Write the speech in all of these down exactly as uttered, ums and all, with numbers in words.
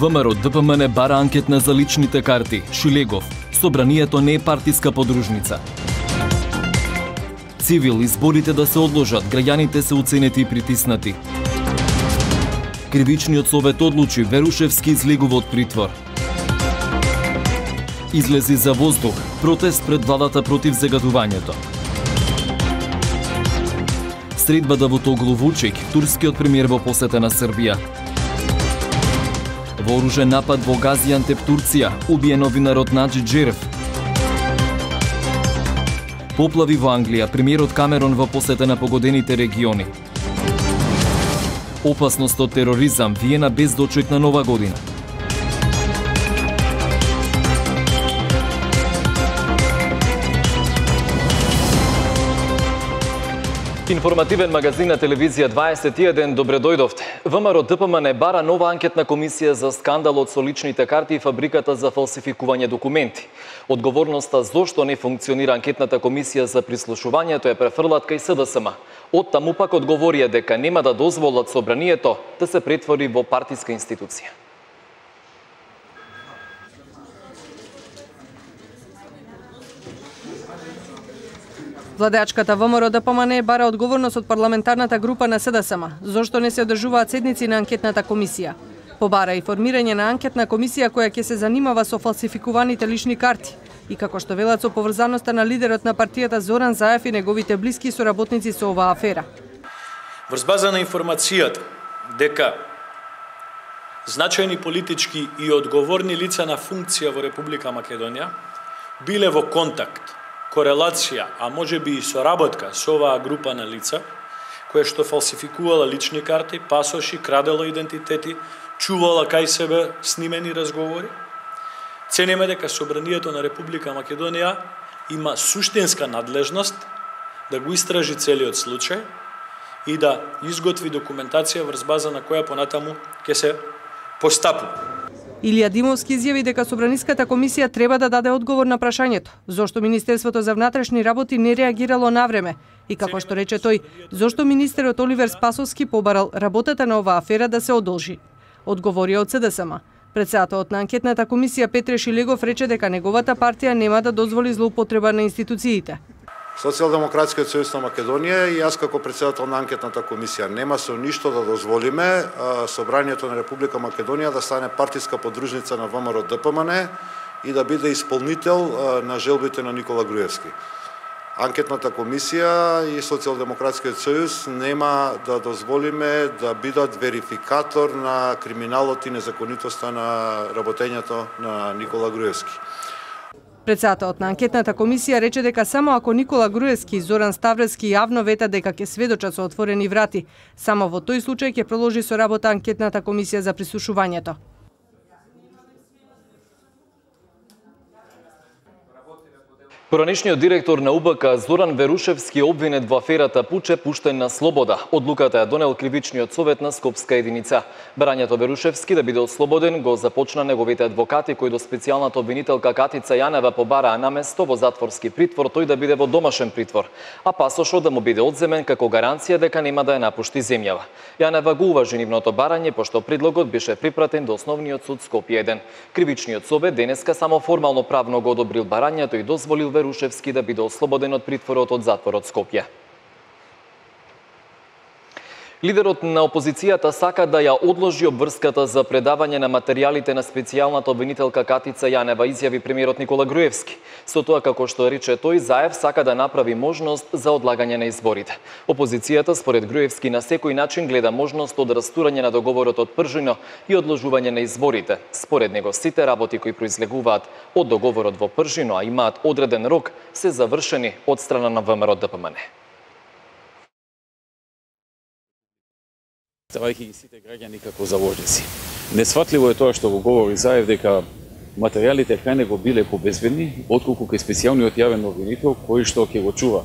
ВМРО Д П М Н бара анкетна за личните карти. Шилегов. Собранието не е партиска подружница. Цивил, изборите да се одложат, граѓаните се уценети и притиснати. Кривичниот совет одлучи, Верушевски излегува од притвор. Излези за воздух, протест пред владата против загадувањето. Средба Давутоглу Вучик, турскиот премиер во посета на Србија. Вооружен напад во Газиантеп, Турција, убиен новинарот Наџи Джерев. Поплави во Англија, премиерот Камерон во посета на погодените региони. Опасност од тероризам, Виена без дочек на нова година. Информативен магазин на телевизија дваесет и еден, добре дојдовте. ВМРО Д П М Н бара нова анкетна комисија за скандалот со личните карти и фабриката за фалсификување документи. Одговорноста зошто не функционира анкетната комисија за прислушувањето е префрлат кај С Д С М. Од таму пак одговорија дека нема да дозволат собранието да се претвори во партиска институција. Владеачката ВМРО Д П М Н бара одговорност од парламентарната група на С Д С М, зошто не се одржуваат седници на анкетната комисија. Побара и формирање на анкетна комисија која ќе се занимава со фалсификуваните лични карти и како што велат со поврзаноста на лидерот на партијата Зоран Заев и неговите блиски соработници со оваа афера. Врз база на информацијата дека значајни политички и одговорни лица на функција во Република Македонија биле во контакт, корелација, а можеби и соработка со оваа група на лица, која што фалсификувала лични карти, пасоши, крадела идентитети, чувала кај себе снимени разговори. Цениме дека Собранието на Република Македонија има суштинска надлежност да го истражи целиот случај и да изготви документација врз база на која понатаму ќе се постапува. Илија Димовски изјави дека Собраниската комисија треба да даде одговор на прашањето зошто Министерството за внатрешни работи не реагирало навреме и како што рече тој, зошто министерот Оливер Спасовски побарал работата на оваа афера да се одолжи. Одговорија од С Д С М. Председателот на анкетната комисија Петре Шилегов рече дека неговата партија нема да дозволи злоупотреба на институциите. Социјалдемократскиот сојуз на Македонија и јас како председател на анкетната комисија нема со ништо да дозволиме Собранието на Република Македонија да стане партиска подружница на ВМРО Д П М Н и да биде исполнител на желбите на Никола Груевски. Анкетната комисија и Социјалдемократскиот сојуз нема да дозволиме да бидат верификатор на криминалот и незаконитоста на работењето на Никола Груевски. Председателот на анкетната комисија рече дека само ако Никола Груевски и Зоран Ставревски јавно ветат дека ќе сведочат со отворени врати, само во тој случај ќе продолжи со работа анкетната комисија за прислушувањето. Поранешниот директор на У Б К Зоран Верушевски обвинет во аферата Пуче пуштен на слобода. Одлуката ја донел кривичниот совет на Скопска единица. Барањето Верушевски да биде ослободен го започна неговите адвокати кои до специјалната обвинителка Катица Јанева побараа наместо во затворски притвор тој да биде во домашен притвор, а пасошот да му биде одземен како гаранција дека нема да ја напушти земјава. Јанева го уважи нивното барање пошто предлогот беше припратен до Основниот суд Скопје еден. Кривичниот совет денеска само формално правно го одобрил барањето и дозволил Верушевски да биде ослободен од притворот од затворот Скопје. Лидерот на опозицијата сака да ја одложи обврската за предавање на материјалите на специјалната обвинителка Катица Јанева, изјави премиерот Никола Груевски. Со тоа, како што рече тој, Заев сака да направи можност за одлагање на изборите. Опозицијата, според Груевски, на секој начин гледа можност од растурање на договорот од Пржино и одложување на изборите. Според него, сите работи кои произлегуваат од договорот во Пржино, а имаат одреден рок, се завршени од страна на ВМРО Д П М Н. Ставајќи ги сите граѓани како заложници. Несфатливо е тоа што го говори Заев дека материјалите кај него биле побезбедни, отколку кај специјалниот јавен обвинител кој што ќе го чува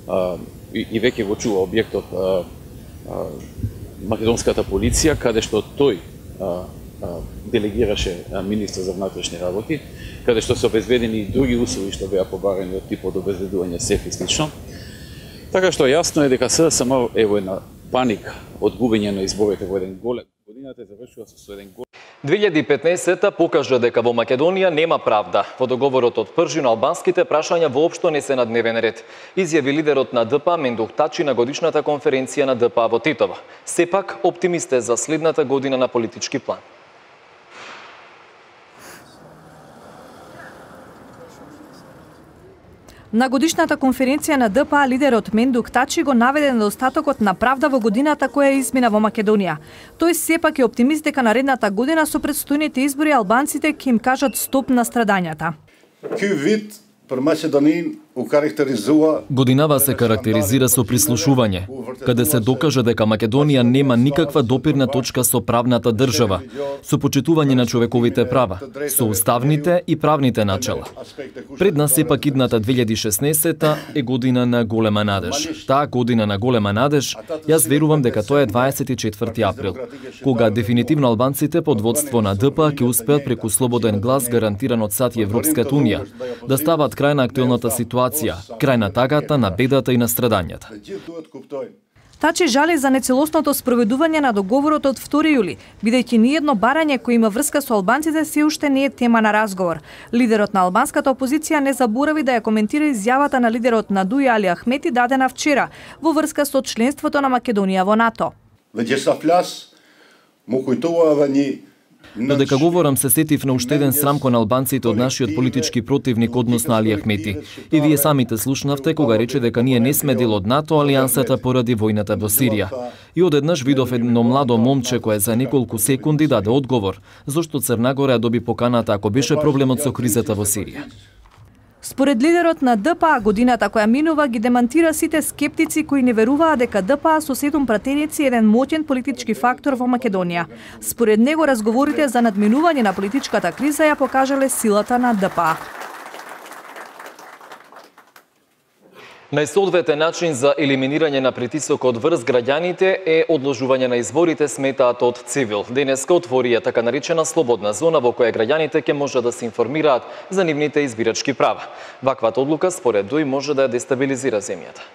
а, и, и веќе го чува објектот а, а, македонската полиција, каде што тој а, а, делегираше а, министр за внатрешни работи, каде што се обезбедени и други услови што беа побарани од типот обезбедување сеф и слично. Така што јасно е дека С Д С М е во една паника од губење на изборите во еден голем. Годината е завршила со еден голем. две илјади и петнаесетта покажа дека во Македонија нема правда. Во договорот од Пржин албанските прашања воопшто не се на дневен ред, изјави лидерот на Д П А Мендух Тачи на годишната конференција на Д П А во Титово. Сепак оптимист е за следната година на политички план. На годишната конференција на Д П А лидерот Мендух Тачи го наведе недостатокот на правда во годината која измина во Македонија. Тој сепак е оптимист дека наредната година со предстојните избори албанците ќе им кажат стоп на страдањата. Ky vit për Maqedonin u karakterizua Годинава се карактеризира со прислушување, каде се докажа дека Македонија нема никаква допирна точка со правната држава, со почитување на човековите права, со уставните и правните начела. Пред нас сепак идната две илјади и шеснаесетта е година на голема надеж. Таа година на голема надеж, јас верувам дека тоа е дваесет и четврти април, кога дефинитивно албанците под водство на Д П А ќе успеат преку слободен глас гарантиран од САД и Европската унија да стават крај на актуелната ситуација, крај на тагата, на бедата и на страдањата. Тачи жали за нецелосното спроведување на договорот од втори јули, бидејќи ниедно барање кој има врска со албанците се уште не е тема на разговор. Лидерот на албанската опозиција не заборави да ја коментира изјавата на лидерот на Дуј Али Ахмети дадена вчера во врска со членството на Македонија во НАТО. Додека говорам се сетив на уште еден срам кон албанците од нашиот политички противник односно Али Ахмети. И вие самите слушнавте кога рече дека ние не сме дел од НАТО алијансата поради војната во Сирија. И одеднаш видов едно младо момче кое за неколку секунди даде одговор зошто Црна Гора доби поканата ако беше проблемот со кризата во Сирија. Според лидерот на Д П А, годината која минува ги демантира сите скептици кои не веруваат дека Д П А со седум пратеници е еден моќен политички фактор во Македонија. Според него разговорите за надминување на политичката криза ја покажале силата на Д П А. Најсоодветен начин за елиминирање на притисокот врз граѓаните е одложување на изборите, сметаат од Цивил. Денеска отворија така наречена слободна зона во која граѓаните ќе може да се информираат за нивните избирачки права. Ваквата одлука според Дуј може да ја дестабилизира земјата.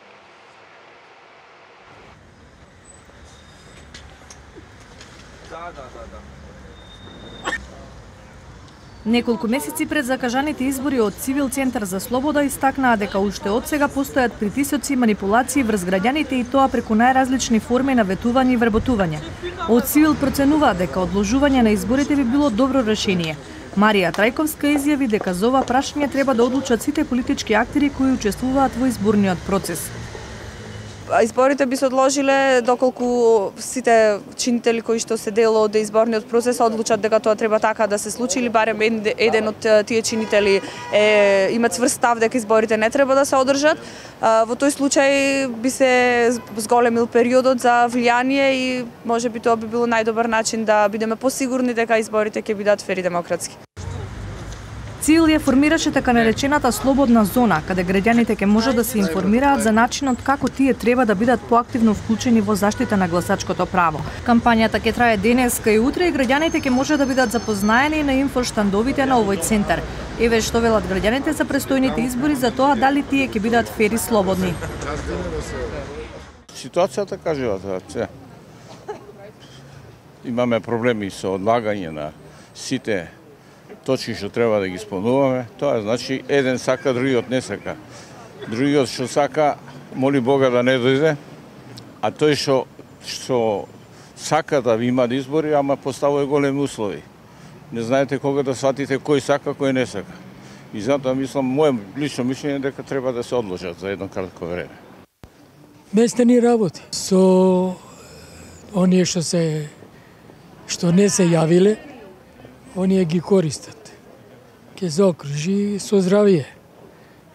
Неколку месеци пред закажаните избори од Цивил Центар за слобода истакнаа дека уште од сега постојат притисоци и манипулации врз граѓаните и тоа преку најразлични форми на ветување и вработување. Од Цивил проценуваат дека одложување на изборите би било добро решение. Марија Трајковска изјави дека за ова прашање треба да одлучат сите политички актери кои учествуваат во изборниот процес. Изборите би се одложиле доколку сите чинители кои што се дел од изборниот процес одлучат дека тоа треба така да се случи или барем еден од тие чинители е има цврст став дека изборите не треба да се одржат. Во тој случај би се зголемил периодот за влијание и можеби тоа би било најдобар начин да бидеме посигурни дека изборите ќе бидат фер и демократски. Цивил ја формираше така наречената слободна зона, каде граѓаните ќе можат да се информираат за начинот како тие треба да бидат поактивно вклучени во заштита на гласачкото право. Кампањата ќе трае денеска и утре и граѓаните ќе може да бидат запознаени на инфоштандовите на овој центар. Еве што велат граѓаните за престојните избори за тоа дали тие ќе бидат фер и слободни. Ситуацијата кажува тоа. Имаме проблеми со одлагање на сите точки што треба да ги исполнуваме, тоа значи еден сака, другиот не сака. Другиот што сака, моли Бога да не дојде, а тој што што сака да има избори, ама поставува големи услови. Не знаете кога да сватите кој сака, кој не сака. И затоа мислам, моје лично мишљење дека треба да се одложат за едно кратко време. Местени работи со оние што се што не се јавиле, оние ги користат. Ке се окружи со здравие.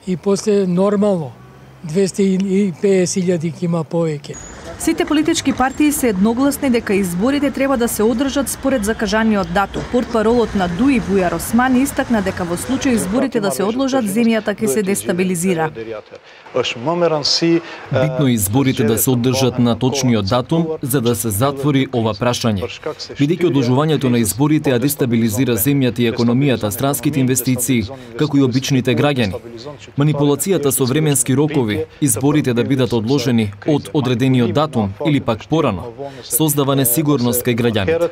И после нормално двесте и песет илјади ќе има повеќе. Сите политички партии се едногласни дека изборите треба да се одржат според закажаниот датум. Портпаролот на Дуј Бујар Османи истакна дека во случај изборите да се одложат, земјата ќе се дестабилизира. Битно е изборите да се одржат на точниот датум за да се затвори ова прашање. Бидејќи одложувањето на изборите ја дестабилизира земјата и економијата, странските инвестиции, како и обичните граѓани. Манипулацијата со временски рокови, изборите да бидат одложени од одредениот датум датум или пак порано, создава несигурност кај граѓаните.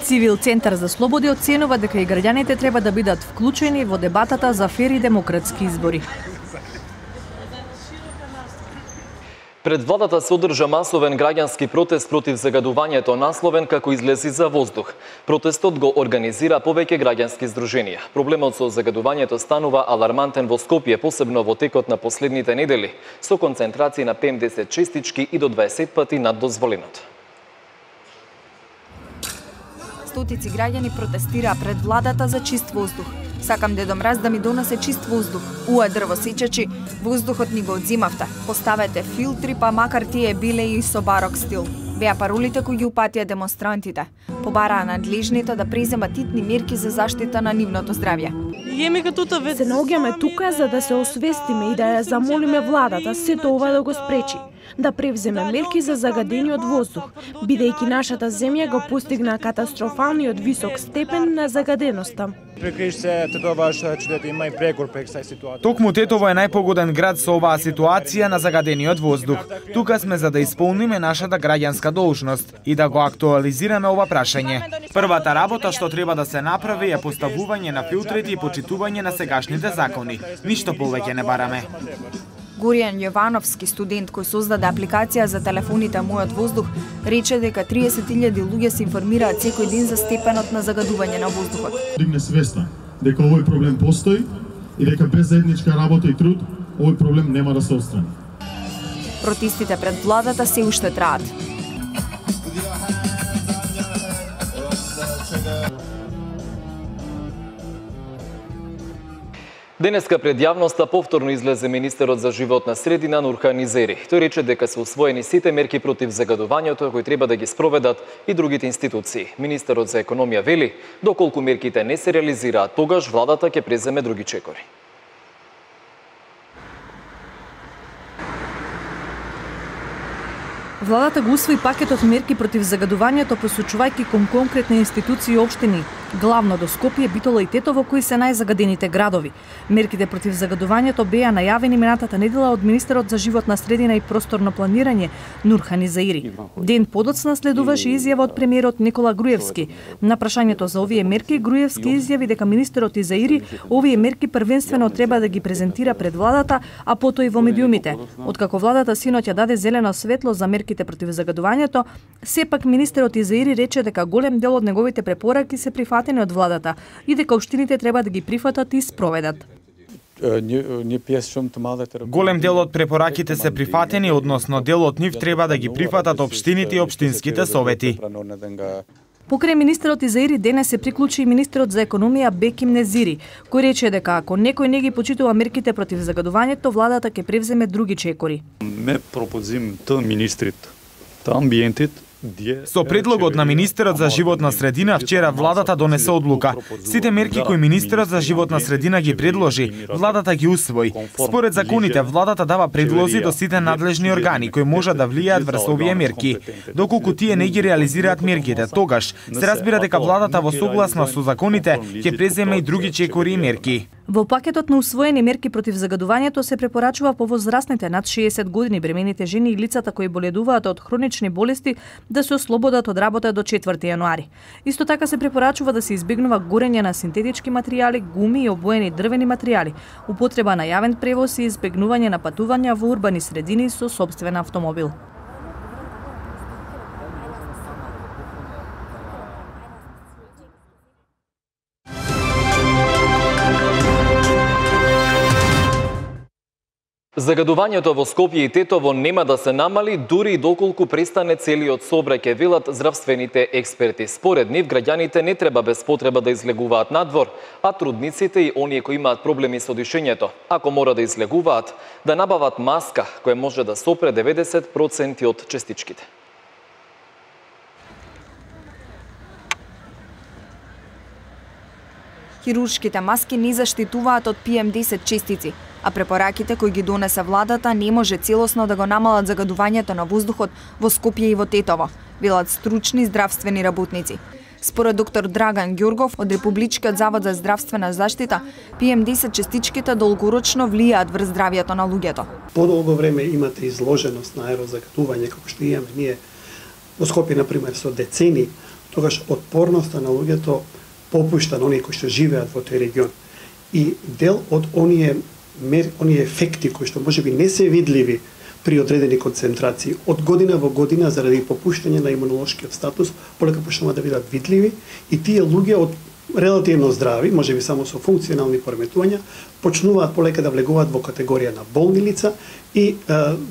Цивил Центар за слободи оценува дека и граѓаните треба да бидат вклучени во дебатата за фер и демократски избори. Пред владата се одржа масовен граѓански протест против загадувањето насловен како излези за воздух. Протестот го организира повеќе граѓански здруженија. Проблемот со загадувањето станува алармантен во Скопје, посебно во текот на последните недели, со концентрација на пем десет честички и до дваесет пати над дозволеното. Стотици граѓани протестираа пред владата за чист воздух. Сакам Дедо Мраз да ми донесе чист воздух. Уа дрвосечачи, воздухот ни го одзимавте. Поставете филтри, па макар тие биле и со барок стил. Беа паролите кои ги упатија демонстрантите. Побараа надлежните да преземат итни мерки за заштита на нивното здравје. Се наоѓаме тука за да се освестиме и да ја замолиме владата сето ова да го спречи, да превземе мерки за загадениот воздух, бидејќи нашата земја го постигна катастрофалниот висок степен на загаденоста. Токму Тетово е најпогоден град со оваа ситуација на загадениот воздух. Тука сме за да исполниме нашата граѓанска должност и да го актуализираме ова прашање. Првата работа што треба да се направи е поставување на филтрите и почитување на сегашните закони. Ништо повеќе не бараме. Горијан Јовановски, студент кој создаде апликација за телефоните Мојот воздух, рече дека триесет илјади луѓе се информираат секој ден за степенот на загадување на воздухот. Дигне свеста дека овој проблем постои и дека без заедничка работа и труд овој проблем нема да се отстрани. Протестите пред владата се уште траат. Денеска пред јавноста повторно излезе министерот за животна средина Нурхан Изери. Тој рече дека се усвоени сите мерки против загадувањето кои треба да ги спроведат и другите институции. Министерот за економија вели, доколку мерките не се реализираат, тогаш владата ќе преземе други чекори. Владата го усвои пакетот мерки против загадувањето, посочувајќи кон конкретни институции и општини, главно до Скопје, Битола и Тетово, кои се најзагадените градови. Мерките против загадувањето беа најавени минатата недела од министерот за животна средина и просторно планирање Нурхан Изери. Ден подоцна следуваше изјава од премиерот Никола Груевски. На прашањето за овие мерки, Груевски изјави дека министерот Изери овие мерки првенствено треба да ги презентира пред владата, а потоа и во медиумите. Откако владата синоќ ја даде зелено светло за мерки против загадувањето, сепак министерот Изаири рече дека голем дел од неговите препораки се прифатени од владата и дека општините треба да ги прифатат и спроведат. Голем дел од препораките се прифатени, односно дел од нив треба да ги прифатат општините и општинските совети. Покрај министерот Изаири денес се приклучи и министерот за економија Беким Незири, кој рече дека ако некој не ги почитува мерките против загадувањето, владата ќе превземе други чекори. Ме пропозим та министрит, та амбиентит. Со предлогот на министерот за животна средина вчера владата донесе одлука. Сите мерки кои министерот за животна средина ги предложи, владата ги усвои. Според законите, владата дава предлози до сите надлежни органи кои можат да влијаат врз овие мерки. Доколку тие не ги реализираат мерките, тогаш се разбира дека владата во согласност со законите ќе преземе и други чекори и мерки. Во пакетот на усвоени мерки против загадувањето се препорачува повозрастните над шеесет години, бремените жени и лицата кои боледуваат од хронични болести да се ослободат од работа до четврти јануари. Исто така се препорачува да се избегнува горење на синтетички материјали, гуми и обоени дрвени материјали, употреба на јавен превоз и избегнување на патувања во урбани средини со сопствен автомобил. Загадувањето во Скопје и Тетово нема да се намали дури и доколку престане целиот сообраќај, велат здравствените експерти. Според нив, граѓаните не треба без потреба да излегуваат надвор, а трудниците и оние кои имаат проблеми со дишењето, ако мора да излегуваат, да набават маска која може да сопре деветдесет проценти од честичките. Хируршките маски не заштитуваат од пи ем десет честици, а препораките кои ги донесе владата не може целосно да го намалат загадувањето на воздухот во Скопје и во Тетово, велат стручни здравствени работници. Според доктор Драган Ѓургов од Републичкиот завод за здравствена заштита, пи ем десет частичките долгорочно влијаат врз здравјето на луѓето. Подолго време имате изложеност на аерозагатување, како што имаме ние во Скопје, например, со децени, тогаш отпорноста на луѓето попушта на оние кои што живеат во тој регион. И дел од оние мер, оние ефекти кои што можеби не се видливи при одредени концентрации, од година во година заради попуштање на имунолошкиот статус, полека почнуваат да бидат видливи и тие луѓе од релативно здрави, можеби само со функционални пореметувања, почнуваат полека да влегуваат во категорија на болни лица и е,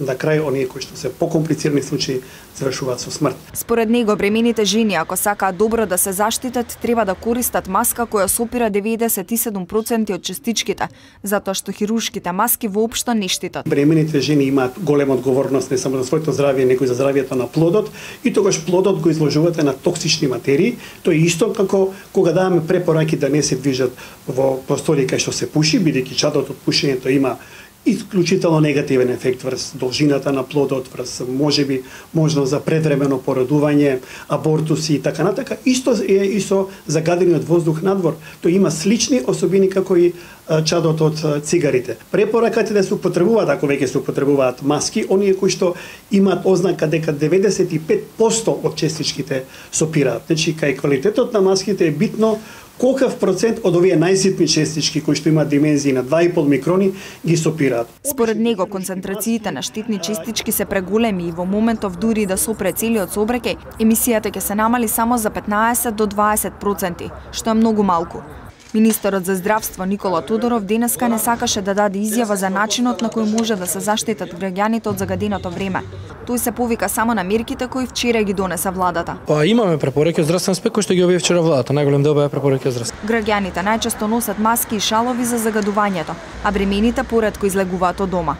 на крај оние кои што се покомплицирани случаи завршуваат со смрт. Според него, бремените жени, ако сакаат добро да се заштитат, треба да користат маска која сопира деветдесет и седум проценти од частичките, затоа што хируршките маски воопшто не штитат. Бремените жени имаат голема одговорност не само за своето здравје, него и за здравјето на плодот, и тогаш плодот го изложувате на токсични материи. Тоа е исто како кога даваме препораки да не се движат во простори кај што се пуши, бидејќи чадот од пушењето има исклучително негативен ефект врз должината на плодот, врз можеби можност за предвремено породување, абортуси и така натака. Исто е и со загадениот воздух надвор. Тој има слични особини како и чадот од цигарите. Препораката е да се употребуваат, ако веќе се употребуваат маски, оние кои што имаат ознака дека деветдесет и пет проценти од частичките сопираат. Значи, кај квалитетот на маските е битно колкав процент од овие најситни частички кои што имаат димензии на два и пол микрони ги сопираат. Според него, концентрациите на штитни частички се преголеми и во моментов дури да сопре целиот сообраќај, емисијата ќе се намали само за петнаесет до дваесет проценти, што е многу малку. Министерот за здравство Никола Тодоров денеска не сакаше да даде изјава за начинот на кој може да се заштитат граѓаните од загаденото време. Тој се повика само на мерките кои вчера ги донесе владата. Па имаме препораки од здравствен аспект кои што ги објави вчера владата, најголем дел беа препораки од здравство. Граѓаните најчесто носат маски и шалови за загадувањето, а бремените поретко излегуваат од дома.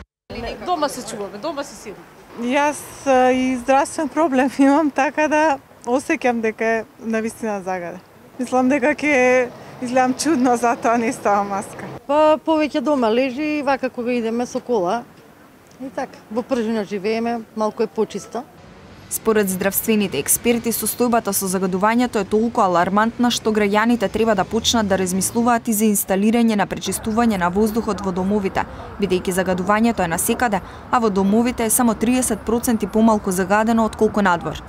Дома се чуваме, дома се сидим. Јас и здравствен проблем имам, така да осеќам дека е навистина загада. Мислам дека ќе изгледам чудно, затоа не ставам маска. Па повеќе дома лежи, вака кога идеме со кола. И така, во пржина живееме, малку е почисто. Според здравствените експерти, состојбата со загадувањето е толку алармантна што граѓаните треба да почнат да размислуваат и за инсталирање на пречистување на воздухот во домовите, бидејќи загадувањето е насекаде, а во домовите е само триесет проценти помалку загадено отколку надвор.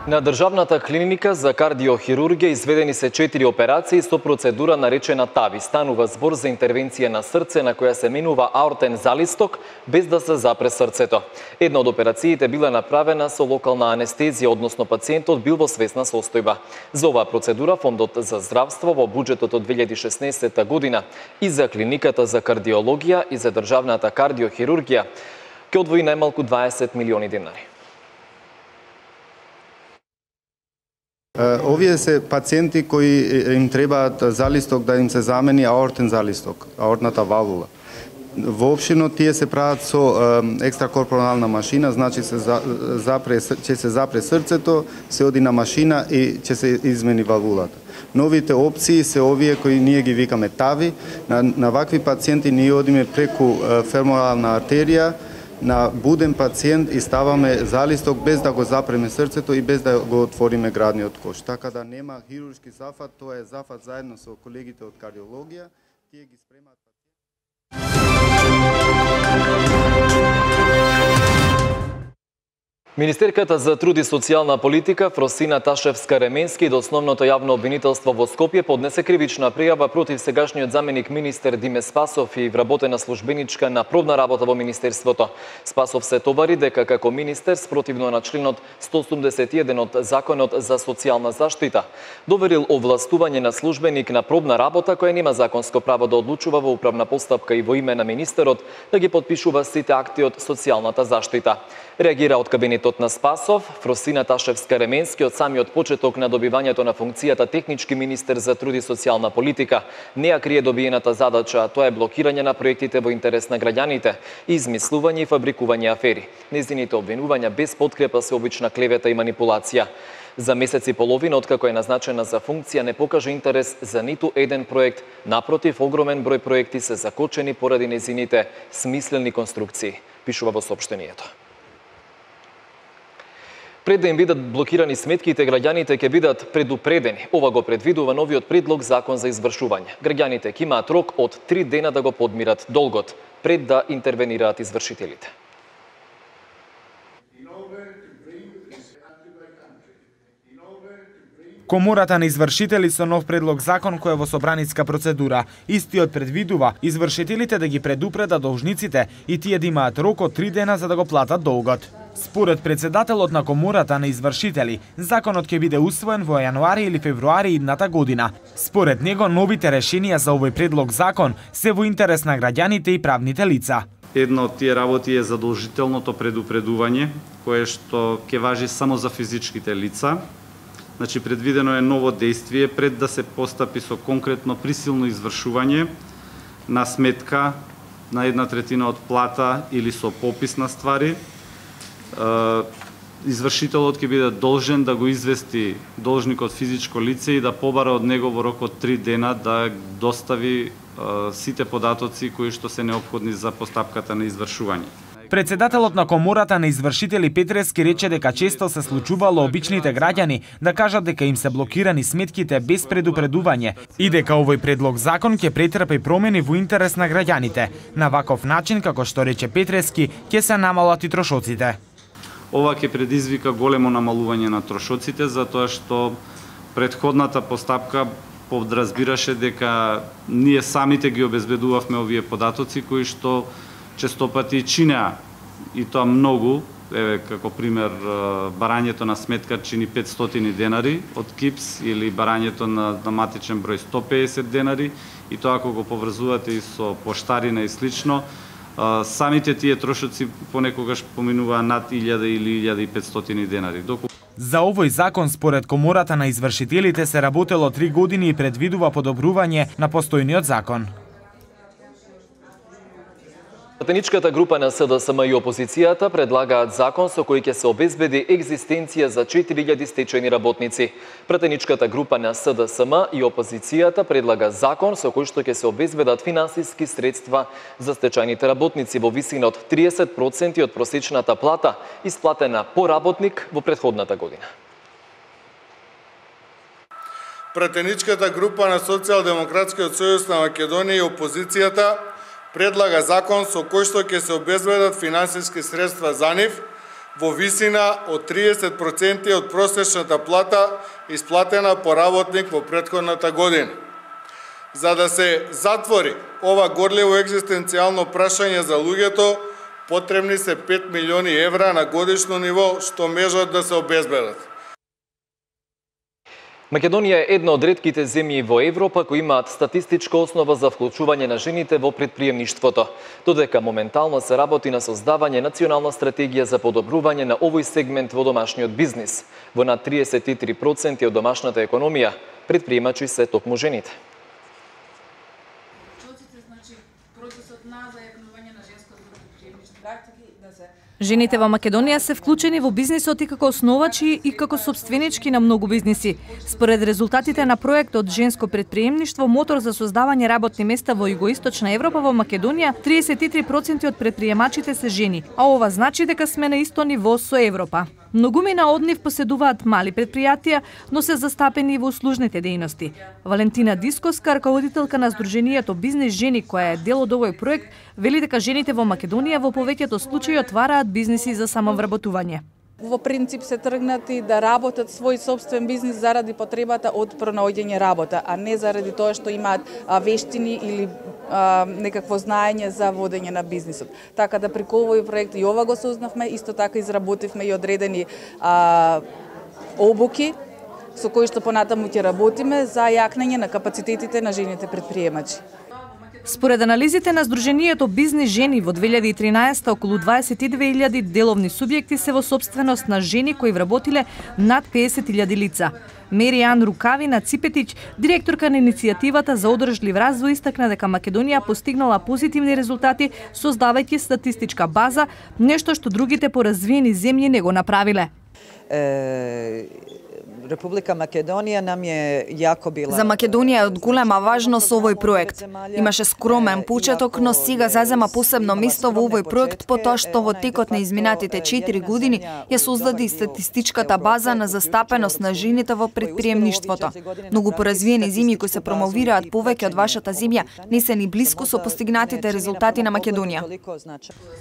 На Државната клиника за кардиохирургија изведени се четири операции со процедура наречена ТАВИ. Станува збор за интервенција на срце на која се менува аортен залисток без да се запре срцето. Една од операциите била направена со локална анестезија, односно пациентот бил во свесна состојба. За оваа процедура Фондот за здравство во буџетот од две илјади и шеснаесетта година и за клиниката за кардиологија и за Државната кардиохирургија ќе одвои најмалку дваесет милиони денари. Овие се пациенти кои им требаат залисток да им се замени аортен залисток, аортната валвула. Воопштено тие се прават со екстракорпорална машина, значи се запре, ќе се запре срцето, се оди на машина и ќе се измени валвулата. Новите опции се овие кои ние ги викаме ТАВИ. На, на вакви пациенти ние одиме преку феморална артерија, на буден пациент и ставаме залисток без да го запреме срцето и без да го отвориме градниот кош. Така да нема хируршки зафат, тоа е зафат заедно со колегите од кардиологија. Тие ги спремаат. Министерката за труд и социјална политика Фросина Ташевска-Ременски до основното јавно обвинителство во Скопје поднесе кривична пријава против сегашниот заменик министер Диме Спасов и вработена службеничка на пробна работа во министерството. Спасов се товари дека како министер спротивно на членот сто осумдесет и еден од Законот за социјална заштита доверил овластување на службеник на пробна работа која нема законско право да одлучува во управна постапка и во име на министерот да ги потпишува сите акти од социјалната заштита. Реагира од кабинетот на Спасов, Фросина Ташевска-Ременски од самиот почеток на добивањето на функцијата технички министер за труд и социјална политика не ја крие добиената задача, тоа е блокирање на проектите во интерес на граѓаните и измислување и фабрикување афери. Нејзините обвинувања без подкрепа се обична клевета и манипулација. За месец и половина откако е назначена за функција не покажа интерес за ниту еден проект, напротив огромен број проекти се закочени поради нејзините смислени конструкции, пишува во соопштението. Пред да им бидат блокирани сметките, граѓаните ќе бидат предупредени. Ова го предвидува новиот предлог закон за извршување. Граѓаните ќе имаат рок од три дена да го подмират долгот, пред да интервенираат извршителите. Комората на извршители со нов предлог закон кој е во собраниска процедура. Истиот предвидува извршителите да ги предупредат должниците и тие да имаат рок од три дена за да го платат долгот. Според председателот на Комората на извршители, законот ќе биде усвоен во јануари или февруари идната година. Според него, новите решенија за овој предлог закон се во интерес на граѓаните и правните лица. Една од тие работи е задолжителното предупредување, кое што ќе важи само за физичките лица. Значи, предвидено е ново действие пред да се постапи со конкретно присилно извршување на сметка на една третина од плата или со попис на ствари. Извршителот ќе биде должен да го извести должникот физичко лице и да побара од него во рок од три дена да достави сите податоци кои што се неопходни за постапката на извршување. Председателот на Комората на извршители Петрески рече дека често се случувало обичните граѓани да кажат дека им се блокирани сметките без предупредување и дека овој предлог закон ќе претрпи промени во интерес на граѓаните. На ваков начин, како што рече Петрески, ќе се намалат и трошоците. Ова ќе предизвика големо намалување на трошоците, затоа што претходната постапка подразбираше дека ние самите ги обезбедувавме овие податоци кои што честопати чинеа и тоа многу, еве како пример барањето на сметка чини петстотини денари од КИПС или барањето на, на матичен број сто педесет денари и тоа ако го поврзувате и со поштарина и слично, самите тие трошоци понекогаш поминуваа над илјада или илјада и петстотини денари. Доку... За овој закон според Комората на извршителите се работело три години и предвидува подобрување на постојниот закон. Пратеничката група на СДСМ и опозицијата предлагаат закон со кој ќе се обезбеди екзистенција за четири илјади стечајни работници. Пратеничката група на СДСМ и опозицијата предлага закон со кој што ќе се обезбедат финансиски средства за стечајните работници во висина од триесет проценти од просечната плата исплатена по работник во претходната година. Пратеничката група на Социјалдемократскиот сојуз на Македонија и опозицијата предлага закон со кој што ќе се обезбедат финансиски средства за нив во висина од триесет проценти од просечната плата исплатена по работник во претходната година. За да се затвори ова горливо екзистенцијално прашање за луѓето, потребни се пет милиони евра на годишно ниво што можат да се обезбедат. Македонија е една од ретките земји во Европа кои имаат статистичка основа за вклучување на жените во претприемништвото, додека моментално се работи на создавање национална стратегија за подобрување на овој сегмент во домашниот бизнис. Во над триесет и три проценти од домашната економија, претприемачи се токму жените. Жените во Македонија се вклучени во бизнисот и како основачи и како сопственички на многу бизниси. Според резултатите на проектот Женско претприемништво, мотор за создавање работни места во Југоисточна Европа, во Македонија триесет и три проценти од претприемачите се жени, а ова значи дека сме на исто ниво со Европа. Многумина од нив поседуваат мали претпријатија, но се застапени во услужните дејности. Валентина Дискоска, раководителка на Сдруженијето Бизнис жени, која е дел од овој проект, вели дека жените во Македонија во повеќето случаи отвараат бизниси за самовработување. Во принцип се тргнати да работат свој собствен бизнис заради потребата од пронаоѓање работа, а не заради тоа што имаат вештини или а, некакво знаење за водење на бизнисот. Така да преку овој проект и ова го сознавме, исто така изработивме и одредени а, обуки со кои што понатаму ќе работиме за јакнење на капацитетите на жените претприемачи. Според анализите на Сдруженијето Бизнис жени во две илјади и тринаесетта околу дваесет и две илјади деловни субјекти се во сопственост на жени кои вработиле над педесет илјади лица. Меријан Рукавина Ципетич, директорка на иницијативата за одржлив развој, истакна дека Македонија постигнала позитивни резултати создавајќи статистичка база, нешто што другите поразвиени земји не го направиле. Република Македонија нам е јако била. За Македонија е од голема важност овој проект. Имаше скромен почеток, но сега зазема посебно место во овој проект потоа што во текот на изминатите четири години ја создаде статистичката база на застапеност на жените во предприемништвото. Многу поразвиени земји кои се промовираат повеќе од вашата земја не се ни блиску со постигнатите резултати на Македонија.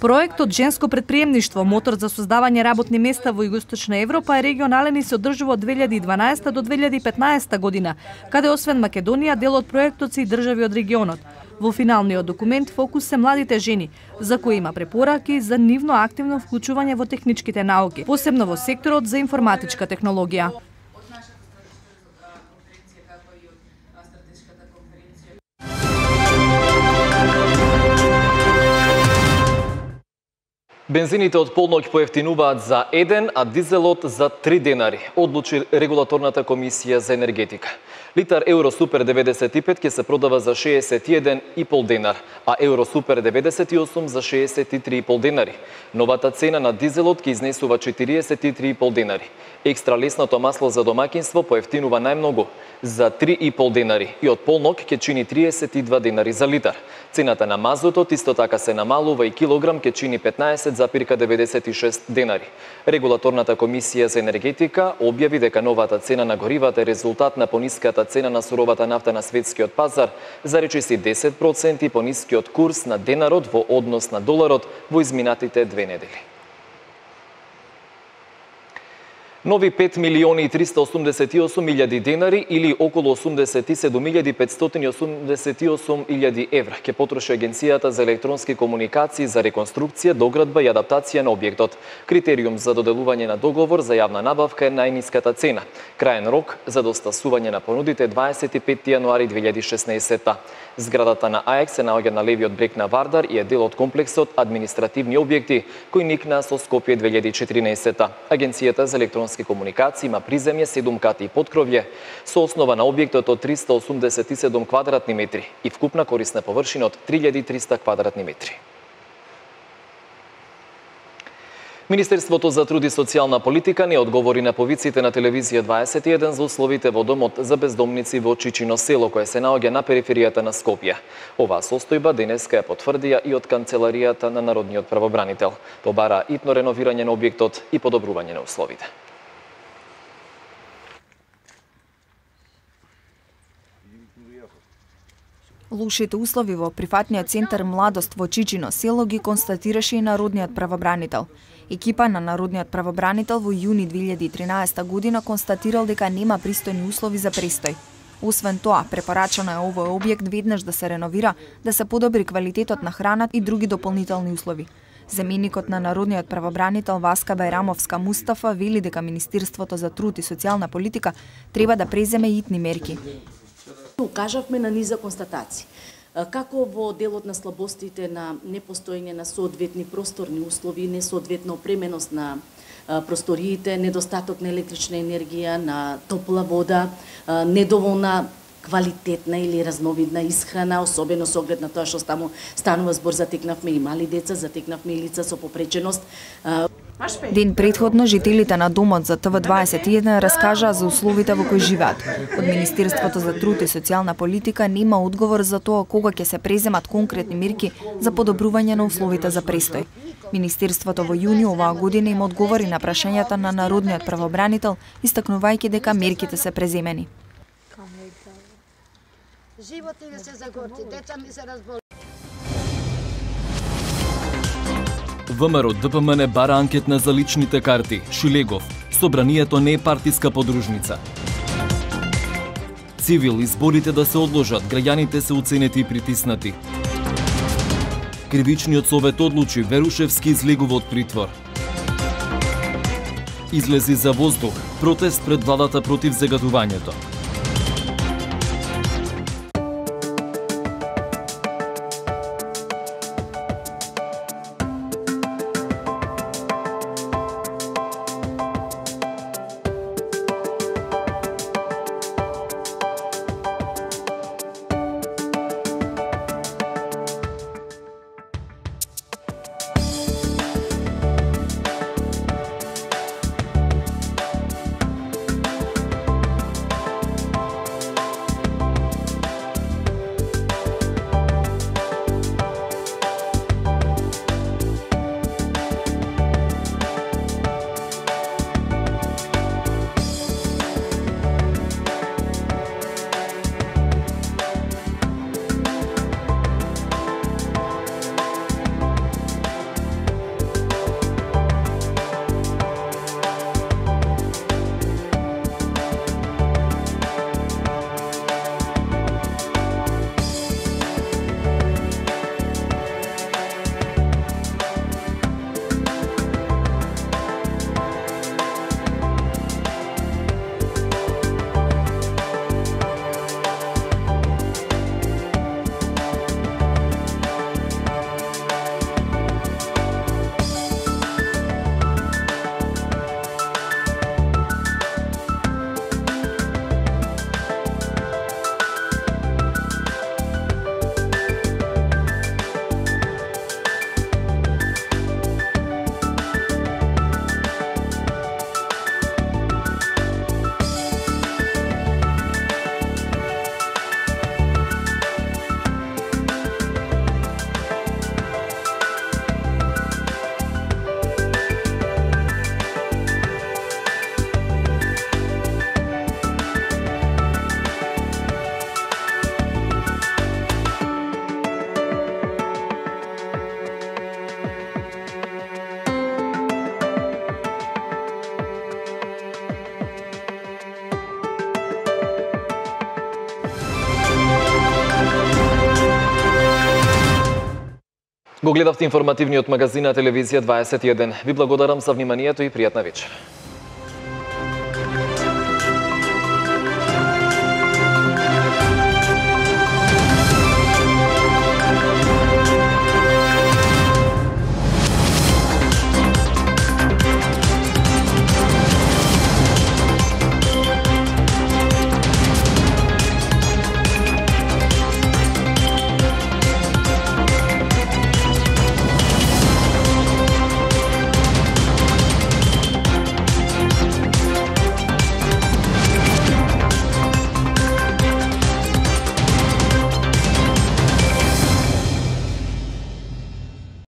Проектот Женско предприемништво, мотор за создавање работни места во Југоисточна Европа е регионален и се одржува од две илјади и дванаесета до две илјади и петнаесета година, каде освен Македонија дел од проектот се и држави од регионот. Во финалниот документ фокус се младите жени, за кои има препораки за нивно активно вклучување во техничките науки, посебно во секторот за информатичка технологија. Бензините од полноќ поевтинуваат за еден, а дизелот за три денари, одлучи Регулаторната комисија за енергетика. Литар Евро Супер деветдесет и пет ќе се продава за шеесет и еден и пол денар, а Евро Супер деветдесет и осум за шеесет и три и пол денари. Новата цена на дизелот ќе изнесува четириесет и три и пол денари. Екстра лесното масло за домаќинство поевтинува најмногу за три и пол денари и од полноќ ќе чини триесет и два денари за литар. Цената на мазутот исто така се намалува и килограм ќе чини петнаесет запирка деветдесет и шест денари. Регулаторната комисија за енергетика објави дека новата цена на горивата е резултат на пониската цена на суровата нафта на светскиот пазар, за речиси десет проценти понискиот курс на денарот во однос на доларот во изминатите две недели. Нови пет милиони и триста осумдесет и осум илјади денари или околу осумдесет и седум илјади петстотини и осумдесет и осум илјади евра ќе потроши Агенцијата за електронски комуникации за реконструкција, доградба и адаптација на објектот. Критериум за доделување на договор за јавна набавка е најниската цена. Краен рок за достасување на понудите е дваесет и петти јануари две илјади и шеснаесетта. Зградата на АЕК се наоѓа на левиот брег на Вардар и е дел од комплексот административни објекти кои никнаа со Скопје две илјади и четиринаесетта. Агенцијата за електронски комуникации има приземје, седум кати и поткровје со основа на објектот од триста осумдесет и седум квадратни метри и вкупна корисна површина од три илјади и триста квадратни метри. Министерството за труд и социјална политика не одговори на повиците на телевизија дваесет и еден за условите во домот за бездомници во Чичино село, кое се наоѓа на периферијата на Скопје. Оваа состојба денеска ја потврдија и од канцеларијата на Народниот правобранител. Побара итно реновирање на објектот и подобрување на условите. Лошите услови во прифатниот центар Младост во Чичино село ги констатираше и Народниот правобранител. Екипа на Народниот правобранител во јуни две илјади и тринаесетта година констатирал дека нема пристојни услови за престој. Освен тоа, препорачано е овој објект веднаш да се реновира, да се подобри квалитетот на храната и други дополнителни услови. Заменикот на Народниот правобранител Васка Бајрамовска Мустафа вели дека Министерството за труд и социјална политика треба да преземе итни мерки. Укажавме на низа констатации. Како во делот на слабостите на непостоење на соодветни просторни услови, несоодветна опременост на просториите, недостаток на електрична енергија, на топла вода, недоволна квалитетна или разновидна исхрана, особено со оглед на тоа што таму станува збор, затекнавме и мали деца, затекнавме и лица со попреченост. Ден предходно жителите на домот за Т В дваесет и еден раскажаа за условите во кои живеат. Од Министерството за труд и социјална политика нема одговор за тоа кога ќе се преземат конкретни мерки за подобрување на условите за престој. Министерството во јуни оваа година им одговори на прашањата на Народниот правобранител, истакнувајќи дека мерките се преземени. Животот ми се загорти, деца ми се разболи. ВМРО Д П М Н бара анкетна за личните карти. Шилегов. Собранието не е партиска подружница. Цивил, изборите да се одложат, граѓаните се уценети и притиснати. Кривичниот совет одлучи, Верушевски излегува од притвор. Излези за воздух, протест пред владата против загадувањето. Го гледавте информативниот магазин на телевизија дваесет и еден. Ви благодарам за вниманието и пријатна вечер.